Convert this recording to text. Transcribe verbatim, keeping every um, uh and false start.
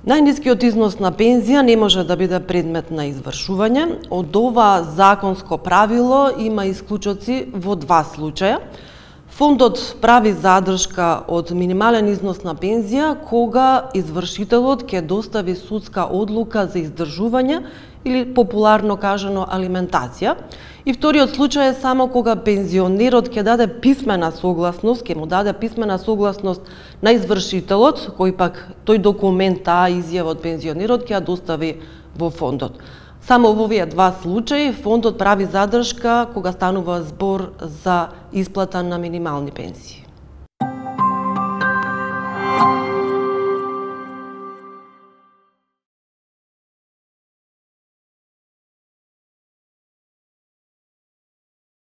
Најнискиот износ на пензија не може да биде предмет на извршување. Од ова законско правило има исклучоци во два случаја. Фондот прави задршка од минимален износ на пензија кога извршителот ќе достави судска одлука за издржување или популарно кажано алиментација. И вториот случај е само кога пензионерот ќе даде писмена согласност, ќе му даде писмена согласност на извршителот, кој пак тој документ, таа изјава од пензионерот ќе ја достави во фондот. Само во овие два случаи фондот прави задршка кога станува збор за исплата на минимални пензии.